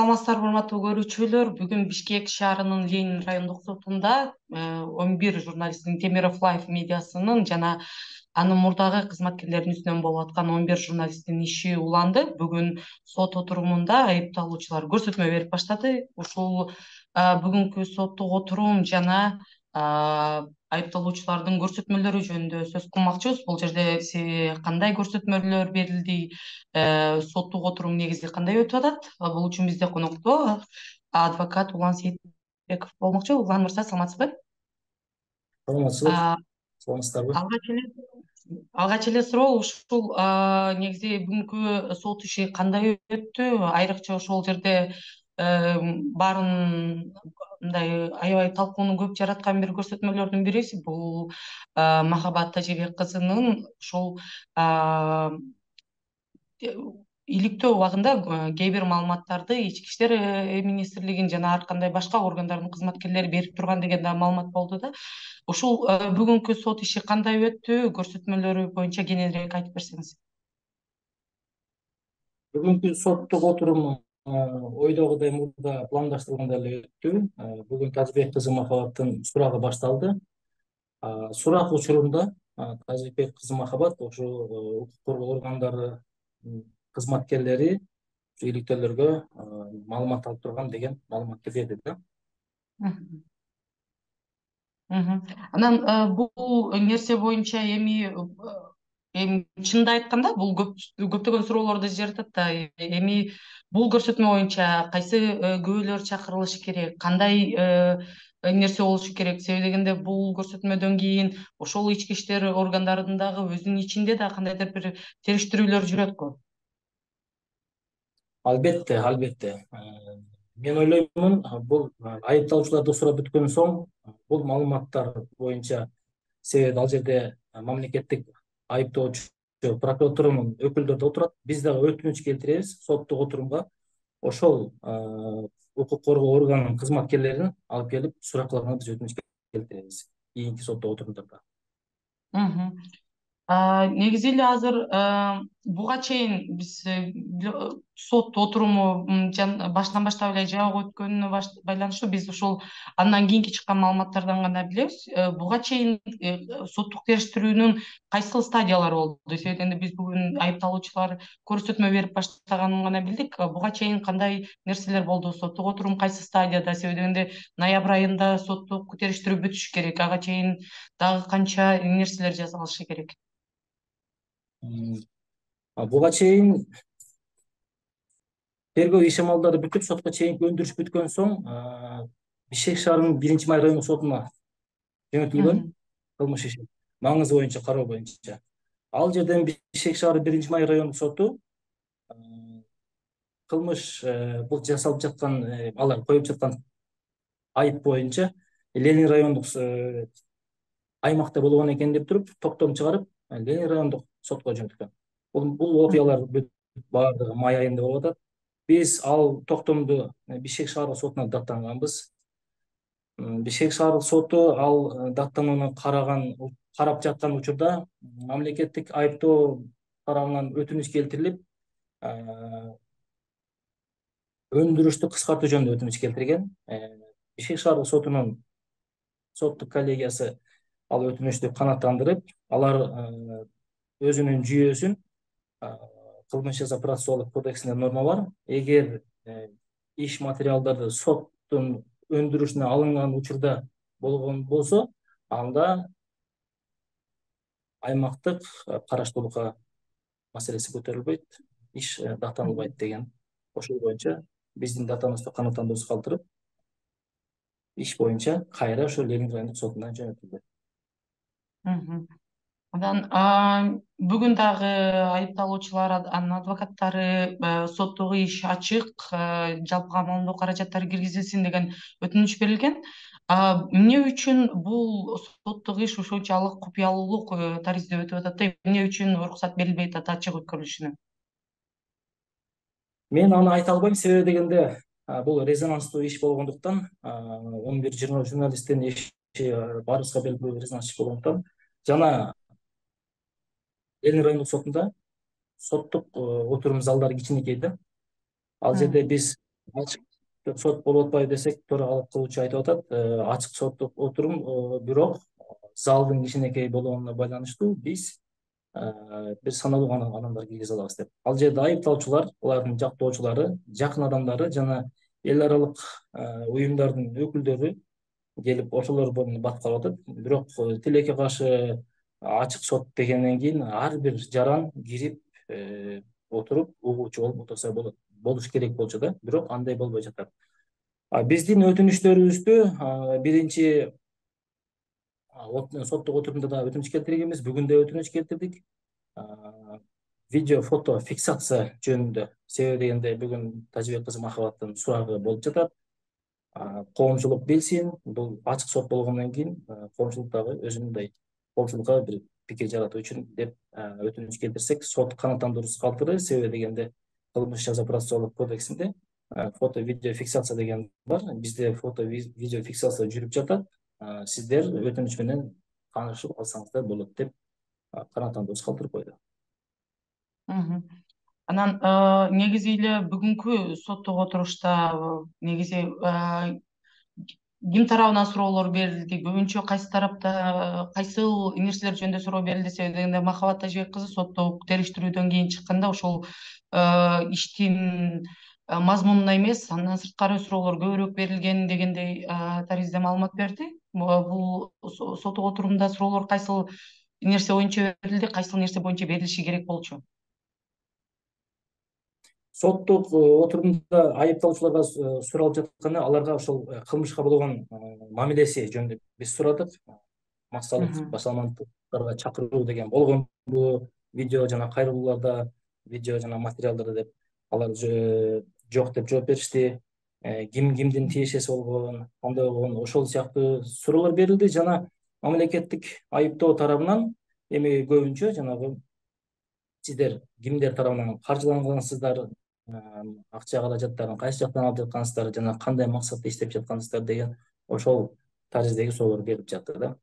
Саламатсыздарбы, урматтуу көрүүчүлөр. Бүгүн Бишкек шаарынын Ленин райондук сотунда 11 журналисттин Темиров Лайф медиасынын жана анын мурдагы кызматкерлеринин үстүнөн болуп аткан 11 журналисттин иши уланды. Бүгүн сот отурумунда айыпталуучулар көрсөтмө берип баштады. Ушул бүгүнкү соттук отурум жана айыпталуучулардын көрсөтмөлөрү жөнүндө сөз кылмакчыбыз. Бул жерде кандай көрсөтмөлөр берилди, соттук отурум негизи кандай өтүп атат? Бул үчүн бизде конокто адвокат Улан Сейитбеков болмокчу. Улан мырза, саламатсызбы? Саламатсызбы, саламатсыздарбы. Алгач эле суроо, ушул негизи бүгүнкү сот иши кандай өттү? Айрыкча ошол жерде баарын мындай аябай талкууну көп жараткан бир көрсөтмөлөрдүн бириси бул Махабат Тажибек кызынын ошол иликтөө убагында кээ бир маалыматтарды ички иштер министрлигинин жана ар кандай башка органдардын кызматкерлери берип турган деген да маалымат болду да. Ушул бүгүнкү сот иши кандай өттү? Көрсөтмөлөрү боюнча кененирээк айтып берсеңиз. Бүгүнкү соттук отурум ойдогудай мурда пландаштырылгандай эле өттү. Бүгүн Тажибек кызы Махабаттын сурагы башталды. Сурак учурунда Тажибек кызы Махабат ошо укук коргоо органдары кызматкерлери иликтөөлөргө маалымат алып турган деген маалыматты берди да. Анан бул нерсе боюнча эми чынында айтканда бул көптөгөн суроолорду жаратат да. Эми бул көрсөтмө боюнча кайсы күбөлөр чакырылышы керек, кандай нерсе болушу керек? Себеби дегенде бул көрсөтмөдөн кийин ошол ички иштер органдарынын дагы өзүнүн ичинде да кандайдыр бир териштирүүлөр жүрөт-кө. Албетте. Мен ойлоймун, бул айыпталуучуларды сурап бүткөн соң бул маалыматтар боюнча, себеби ал жерде мамлекеттик айыптоочу прокуратуранын өкүлдөрү да отурат. Биз дагы өтүнүч келтиребиз соттук отурумга ошол укук коргоо органынын кызматкерлерин алып келип суракларына биз өтүнүч келтиребиз кийинки соттук отурумдарда. Негизи эле азыр буга чейин биз сот отуруму башынан баштап эле жабык өткөнүнө байланыштуу биз ушул андан кийинки чыккан маалыматтардан гана билебиз. Буга чейин соттук териштирүүнүн кайсыл стадиялары болду? Себеби дегенде биз бүгүн айыпталуучулар көрсөтмө берип баштаганын гана билдик. Буга чейин кандай нерселер болду? Соттук отурум кайсы стадияда? Себеби дегенде ноябрь айында соттук териштирүү бүтүшү керек. Ага чейин дагы канча нерселер жасалышы керек? Буга чейин тергөө иш-амалдары бүтүп, сотко чейинки өндүрүш бүткөн соң Бишкек шаарынын 1-Май райондук сотуна жөнөтүлгөн кылмыш иши маңызы боюнча кароо боюнча. Ал жерден Бишкек шаары 1-Май райондук соту кылмыш бул жасалып жаткан, алар коюп жаткан айып боюнча Ленин райондук аймакта болгон экен деп туруп токтом чыгарып, Ленин райондук сотко жөнөткөн. Бул окуялар баардыгы май айында болуп атат. Биз ал токтомду Бишкек шаардык сотуна даттанганбыз. Бишкек шаардык соту ал даттанууну карап жаткан учурда мамлекеттик айыптоо тарабынан өтүнүч келтирилип, өндүрүштү кыскартуу жөнүндө өтүнүч келтирген. Бишкек шаардык сотунун соттук коллегиясы ал өтүнүчтү канааттандырып, алар өзүнүн жүйөсүн кылмыш жаза процессуалдык кодексинде норма бар. Эгер иш материалдары соттун өндүрүшүнө алынган учурда болгон болсо, анда аймактык караштуулукка маселеси көтөрүлбөйт, иш даттанылбайт деген. Ошол боюнча биздин даттануубузду канааттандыруусуз калтырып, иш боюнча кайра ошо Ленин райондук сотуна жөнөтүлдү. Андан бүгүн дагы айыпталуучулар, анын адвокаттары соттук иш ачык, жалпыга маалымдоо каражаттары киргизилсин деген өтүнүч берилген. Эмне үчүн бул соттук иш ушунчалык купуялуулук таризде өтүп атат да? Эмне үчүн уруксат берилбей атат ачык өткөрүлүшүнө? Мен аны айта албайм, себеби дегенде бул резонанстуу иш болгондуктан, 11 журналисттин иши баарыбызга белгилүү резонанс иш болгондуктан жана Ленин райондук сотунда соттук отурум залдары кичинекей да. Ал жерде биз ачык сот болуп атпайбы десек, төрагалык кылуучу айтып атат, ачык соттук отурум, бирок залдын кичинекей болгонуна байланыштуу биз бир саналуу гана адамдар киргизе алабыз деп. Ал жерде айыпталуучулар, алардын жактоочулары, жакын адамдары жана эл аралык уюмдардын өкүлдөрү келип ошолор боюнда бат калып атат. Бирок тилекке каршы ачык сот дегенден кийин ар бир жаран кирип отуруп угуучу болуп отурса болот, болуш керек болчу да, бирок андай болбой жатат. Биздин өтүнүчтөрүбүздө биринчи соттук отурумда да өтүнүч келтиргенбиз, бүгүн да өтүнүч келтирдик. Видео фото фиксация жөнүндө, себеби дегенде бүгүн Тажыбек кызы Махабаттын сурагы болуп жатат. Коомчулук билсин, бул ачык сот болгондон кийин коомчулук дагы өзүнүндөй коомчулукка бир пикир жаратуу үчүн деп өтүнүч келтирсек, сот канааттандыруусуз калтырды. Себеби дегенде кылмыш жаза процессуалдык кодексинде фото видео фиксация деген бар. Бизде фото видео фиксация жүрүп жатат. Сиздер өтүнүч менен таанышып алсаңыздар болот деп канааттандыруусуз калтырып койду. Анан негизи эле бүгүнкү соттук отурушта негизи ким тарабынан суроолор берилди, көбүнчө кайсы тарапта кайсыл нерселер жөнүндө суроо берилди? Себеби дегенде Махабат Тажыбек кызы соттук териштирүүдөн кийин чыкканда ошол иштин мазмунуна эмес, андан сырткары суроолор көбүрөөк берилген дегендей таризде маалымат берди. Бул соттук отурумда суроолор кайсыл нерсе боюнча берилди, кайсыл нерсе боюнча берилиши керек болчу? Соттук отурумда айыпталуучуларга суралып жатканы аларга ошол кылмышка болгон мамилеси жөнүндө биз сурадык. Массалык башаламандыктарга чакыруу деген болгонбу видео жана кайрылууларда, видео жана материалдарда деп алар жок деп жооп беришти. Ким кимдин тиешеси болгон, кандай болгон, ошол сыяктуу суроолор берилди жана мамлекеттик айыптоо тарабынан эми көбүнчө жанагы сиздер кимдер тарабынан каржылангансыздар, акча каражаттарын кайсы жактан алып жаткансыздар жана кандай максатта иштеп жаткансыздар деген ошол тариздеги суроолор берилип жатты да.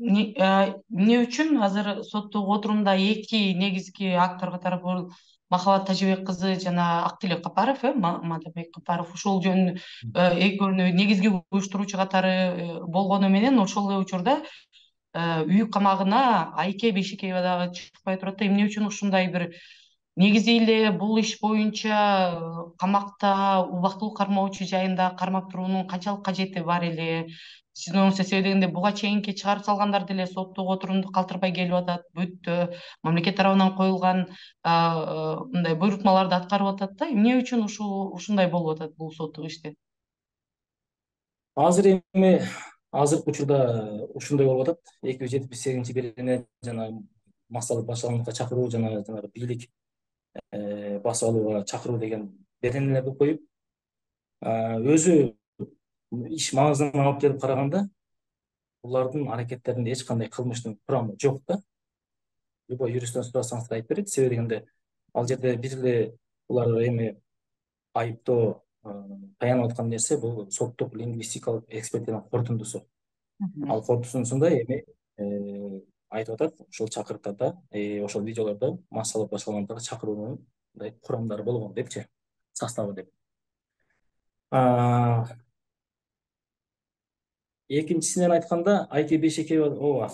Эмне үчүн азыр соттук отурумда эки негизги актор катары бул Махабат Тажыбек кызы жана Актилек Капаров, Мадабек Капаров ушул жөнүндө экөөнү негизги уюштуруучу катары болгону менен ошол эле учурда үй камагына Айке Бейшекеева дагы чыкпай турат да, эмне үчүн ушундай бир негизи эле бул иш боюнча камакта убактылуу кармоочу жайында кармап туруунун канчалык кажети бар эле? Сиздин оюңузда, себеби дегенде буга чейинки чыгарып салгандар деле соттук отурумду калтырбай келип атат, бүттү, мамлекет тарабынан коюлган мындай буйрутмаларды аткарып атат да, эмне үчүн ушундай болуп атат бул соттук иште? Азыркы учурда ушундай болуп атат. 278 берене жана массалык башаламандыкка чакыруу жана жанагы бийлик басып алууга чакыруу деген беренелерди коюп, өзү иш маңызына алып келип караганда булардын аракеттеринде эч кандай кылмыштын курамы жок да. Любой юристтен сурасаңыз да айтып берет. Себеби дегенде ал жерде бир эле булар эми айыптоо таянып аткан нерсе бул соттук лингвистикалык экспертизанын корутундусу. Ал корутундусунда эми айтып атат ошол чакырыктарда, ошол видеолордо массалык башаламандыкка чакыруунун мындай курамдары болгон депчи, составы деп. Экинчисинен айтканда, Айке Бейшекеева, ооба,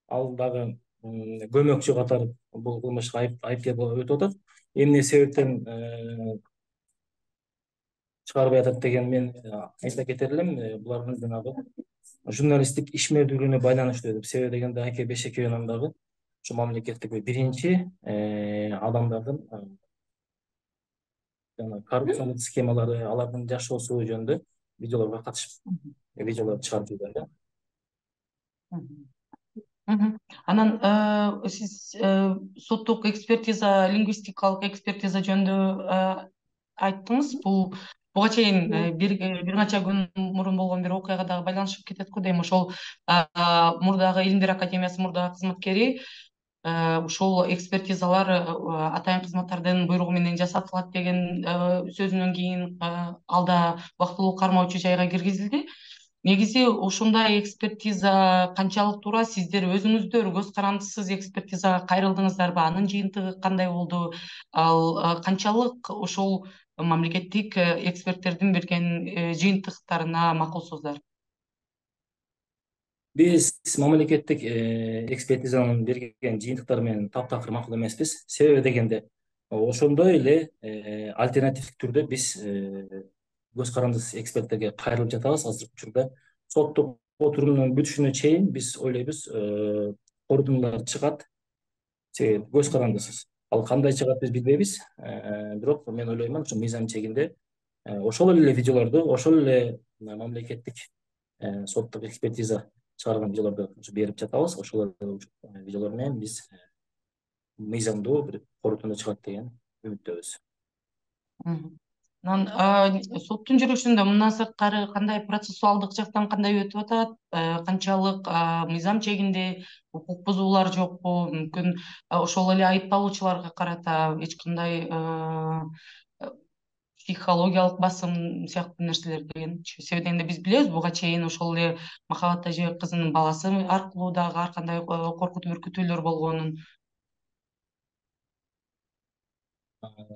ал дагы көмөкчү катары бул кылмышка айыпкер болуп өтүп атат. Эмне себептен чыгарбай атат деген мен айта кетер элем, булардын жанагы журналисттик ишмердүүлүгүнө байланыштуу деп. Себеби дегенде Айке Бейшекееванын дагы ушу мамлекеттик биринчи адамдардын жана коррупциялык схемалары, алардын жашоосу жөнүндө видеолорго катышып, видеолор чыгарып жүргөн да. Анан сиз соттук экспертиза, лингвистикалык экспертиза жөнүндө айттыңыз. Буга чейин бир канча күн мурун болгон бир окуяга дагы байланышып кетет го дейм. Ошол мурдагы Илимдер академиясы мурдагы кызматкери ушул экспертизалар атайын кызматтардын буйругу менен жасатылат деген сөзүнөн кийин ал да убактылуу кармоочу жайга киргизилди. негизи ушундай экспертиза канчалык туура? Сиздер өзүңүздөр көз карандысыз экспертизага кайрылдыңыздарбы? Анын жыйынтыгы кандай болду? Ал канчалык ошол мамлекеттик эксперттердин берген жыйынтыктарына макулсуздар? Биз мамлекеттик экспертизанын берген жыйынтыктары менен таптакыр макул эмеспиз. Себеби дегенде ошондой эле альтернативдик түрдө биз көз карандысыз эксперттерге кайрылып жатабыз. Азыркы учурда соттук отурумдун бүтүшүнө чейин биз ойлойбуз корутундулар чыгат, себеби көз карандысыз. Ал кандай чыгат биз билбейбиз. Бирок мен ойлоймун ошо мыйзам чегинде ошол эле видеолорду, ошол эле мамлекеттик соттук экспертиза чыгарган видеолорду берип жатабыз. Ошол видеолор менен биз мыйзамдуу бир корутунду чыгат деген үмүттөбүз. Анан соттун жүрүшүндө мындан сырткары кандай процессуалдык жактан кандай өтүп атат? Канчалык мыйзам чегинде укук бузуулар жокпу? Мүмкүн ошол эле айыпталуучуларга карата эч кандай психологиялык басым сыяктуу нерселер дегенчи. Себеби дегенде биз билебиз, буга чейин ошол эле Махабат Тажыбек кызынын баласы аркылуу дагы ар кандай коркутуу үркүтүүлөр болгонун.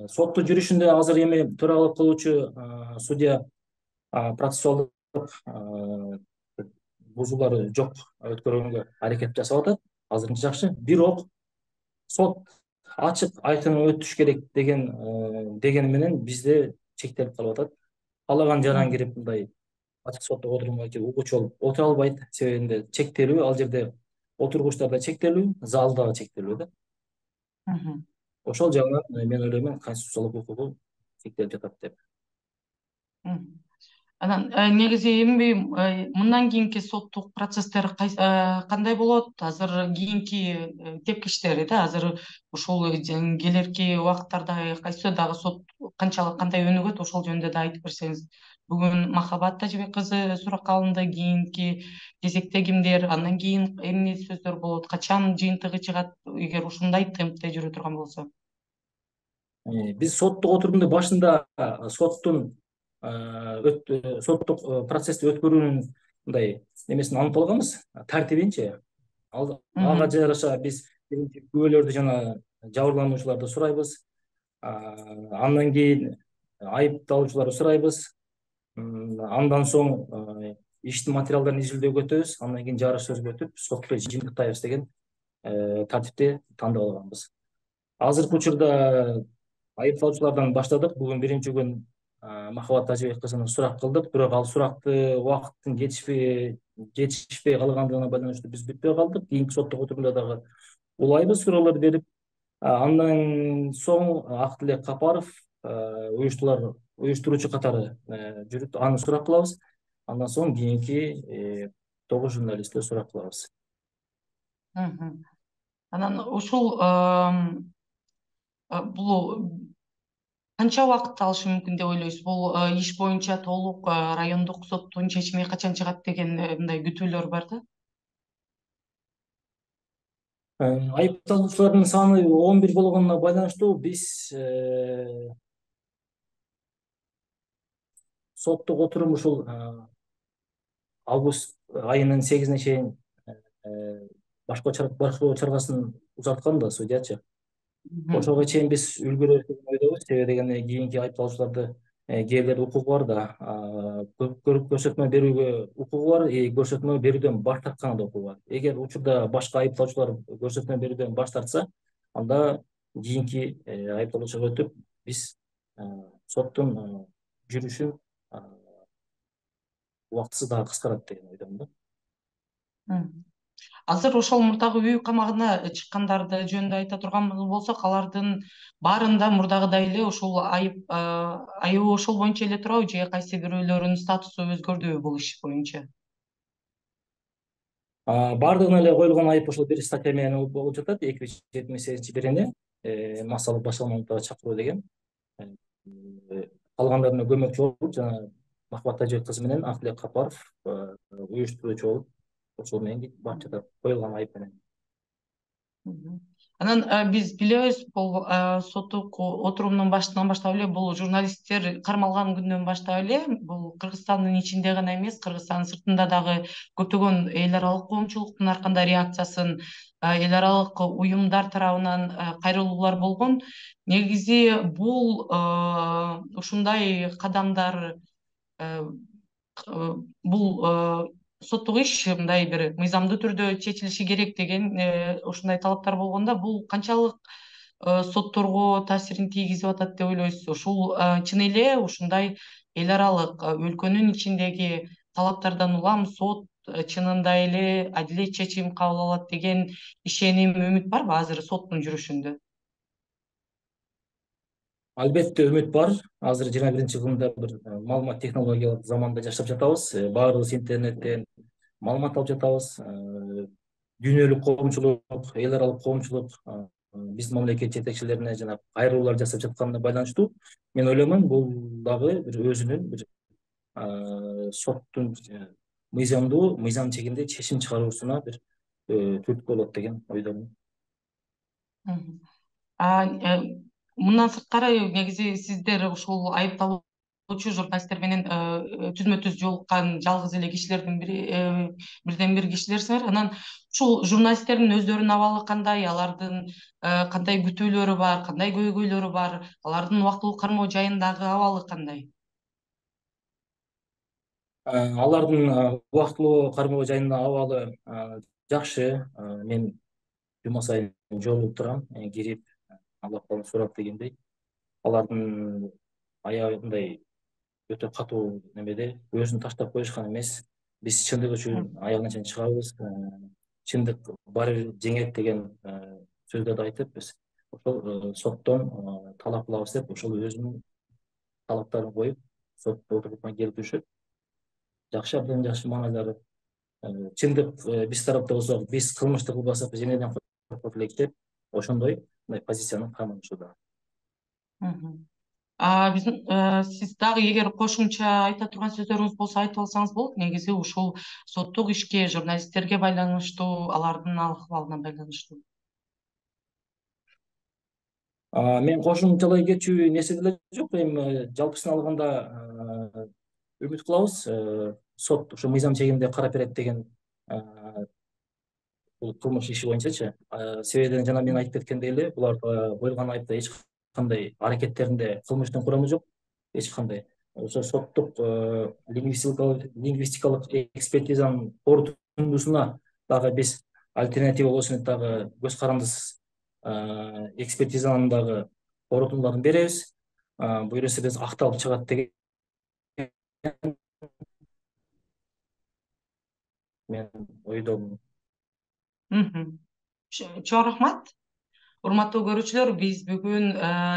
Соттун жүрүшүндө азыр эми төралык кылуучу судья процессуалдык бузуулар жок өткөргөнгө аракет жасап атат. Азырынча жакшы. Бирок сот ачык айкын өтүш керек дегени менен бизде чектелип калып атат. Каалаган жаран кирип мындай ачык соттук отурумга угуучу болуп отура албайт. Себебинде чектелүү, ал жерде отургучтар да чектелүү, зал дагы чектелүү да. Ошол жагынан мен ойлоймун конституциялык укугу чектелип жатат деп. Анан негизи эми мындан кийинки соттук процесстер кандай болот? Азыр кийинки тепкичтери да, азыр ушул келерки убакыттарда кайсы дагы сот кандай өнүгөт, ошол жөнүндө да айтып берсеңиз. Бүгүн Махабат Тажыбек кызы суракка алынды, кийинки кезекте кимдер, андан кийин эмне сөздөр болот, качан жыйынтыгы чыгат, эгер ушундай темпте жүрө турган болсо? Биз соттук отурумду башында соттук процессти өткөрүүнүн мындай немесин алып алганбыз, тартибинчи. Ага жараша биз күбөлөрдү жана жабырлануучуларды сурайбыз. Андан кийин айыпталуучуларды сурайбыз. Андан соң иштин материалдарын изилдөөгө өтөбүз. Андан кийин жарыш сөзгө өтүп, сотто жыйынтыктайбыз деген тартипти тандап алганбыз. Азыркы учурда айыпталуучулардан баштадык. Бүгүн биринчи күн Махабат Тажыбек кызына сурак кылдык, бирок ал суракты убакыттын жетишпей калгандыгына байланыштуу биз бүтпөй калдык. Кийинки соттук отурумда дагы улайбыз суроолор берип. Андан соң Актылек Капаров уюштуруучу катары жүрүп, аны сурак кылабыз. Андан соң кийинки 9 журналистти сурак кылабыз. Анан ушул бул канча убакыт алышы мүмкүн деп ойлойсуз? Бул иш боюнча толук райондук соттун чечими качан чыгат деген мындай күтүүлөр бар да. Айыпталуучулардын саны 11 болгонуна байланыштуу биз соттук отурум ушул август айынын 8-ине чейин башкоо чаргасын узарткан да судьячы. Ошого чейин биз үлгүрөбүз деген ойдобуз. Себеби дегенде кийинки айыпталуучуларды кээ бирлерде укугу бар да, көрсөтмө берүүгө укугу бар, көрсөтмө берүүдөн баш тартканда укугу бар. Эгер учурда башка айыпталуучулар көрсөтмө берүүдөн баш тартса, анда кийинки айыпталуучуга өтүп, биз соттун жүрүшүн убактысы дагы кыскарат деген ойдомун да. Азыр ошол мурдагы үй камагына чыккандарды жөнүндө айта турган болсок, алардын баарында мурдагыдай эле ошол айыбы ошол боюнча эле турабы, же кайсы бирөөлөрүнүн статусу өзгөрдүбү бул иш боюнча? Бардыгына эле коюлган айып ошол бир статья менен болуп жатат. 278-бирине массалык башкармалыкка чакыруу деген. Калгандарына көмөкчү болуп, жана Махабат Тажыбек кызы менен Актылек Капаров уюштуруучу болуп, ошол менен барып жатат, коюлган айып менен. Анан биз билебиз, бул соттук отурумдун башынан баштап эле бул журналисттер кармалган күндөн баштап эле бул Кыргызстандын ичинде гана эмес, Кыргызстандын сыртында дагы көптөгөн эл аралык коомчулуктун ар кандай реакциясын эл аралык уюмдар тарабынан кайрылуулар болгон. Негизи бул ушундай кадамдар бул соттук иш мындай бир мыйзамдуу түрдө чечилиши керек деген ушундай талаптар болгондо, бул канчалык сотторго таасирин тийгизип атат деп ойлойсуз? Ушул чын эле ушундай эл аралык өлкөнүн ичиндеги талаптардан улам сот чынында эле адилет чечим кабыл алат деген ишеним, үмүт барбы азыр соттун жүрүшүндө? Албетте үмүт бар. Азыр 21-кылымда бир маалымат технологиялык заманда жашап жатабыз. Баарыбыз интернеттен маалымат алып жатабыз. Дүйнөлүк коомчулук, эл аралык коомчулук биздин мамлекет жетекчилерине жана кайрылуулар жасап жатканына байланыштуу мен ойлоймун, бул дагы бир өзүнүн бир соттун мыйзам чегинде чечим чыгаруусуна бир түрткү болот деген ойдомун. Мгм. Мындан сырткары негизи сиздер ушул айыпталуучу журналисттер менен түзмө түз жолуккан жалгыз эле кишилердин бирден бир кишилерсиңер. Анан ушул журналисттердин өздөрүнүн абалы кандай? Алардын кандай күтүүлөрү бар, кандай көйгөйлөрү бар? Алардын убактылуу кармоо жайындагы абалы кандай? Алардын убактылуу кармоо жайындагы абалы жакшы. Мен жума сайын жолугуп турам, кирип алып калып сурап дегендей. Алардын аягы мындай өтө катуу немеде, өзүн таштап коюшкан эмес. Биз чындык үчүн аягына чейин чыгабыз. Чындык баары бир жеңет деген сөздөрдү айтып, биз ошол соттон талап кылабыз деп, ошол өзүнүн талаптарын коюп, сот отурумуна келип жакшы, абдан жакшы маанайлары. Чындык биз тарапта болсо, биз кылмышты кылбасак женеден коркот элек деп, ошондой мындай позицияны камалышууда. Биздин сиз дагы эгер кошумча айта турган сөздөрүңүз болсо айтып алсаңыз болот. Негизи ушул соттук ишке, журналисттерге байланыштуу, алардын акыбалына байланыштуу. Мен кошумчалай кетчү нерсе деле жок. Эми жалпысын алганда үмүт кылабыз. Сот ушу мыйзам чегинде карап берет деген бул кылмыш иши боюнчачы. Себебинен жана мен айтып кеткендей эле, буларга коюлган айыпта эч кандай аракеттеринде кылмыштын курамы жок, эч кандай. Ошо соттук лингвистикалык экспертизанын корутундусуна дагы биз альтернатива болсун деп дагы көз карандысыз экспертизанын дагы корутундуларын беребиз. Буюрса биз акталып чыгат деген мен ойдомун. Чоң рахмат. Урматтуу көрүүчүлөр, биз бүгүн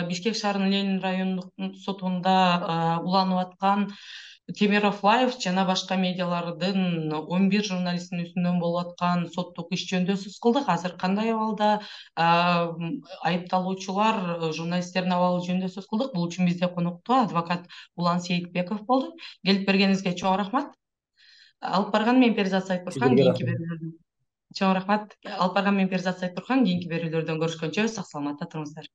Бишкек шаарынын Ленин райондук сотунда уланып аткан Темиров Лайф жана башка медиалардын 11 журналистинин үстүнөн болуп аткан соттук иш жөнүндө сөз кылдык. Азыр кандай абалда айыпталуучулар, журналисттердин абалы жөнүндө сөз кылдык. Бул үчүн бизде конокто адвокат Улан Сейитбеков болду. Келип бергениңизге чоң рахмат. Алып барган мен Перизат Сайтурхан, Сиздерге кийинки рахмат. берүүлөрдө чоң рахмат. Алып барган мен Перизат Сайтурхан, кийинки берүүлөрдөн көрүшкөнчө сак саламатта туруңуздар.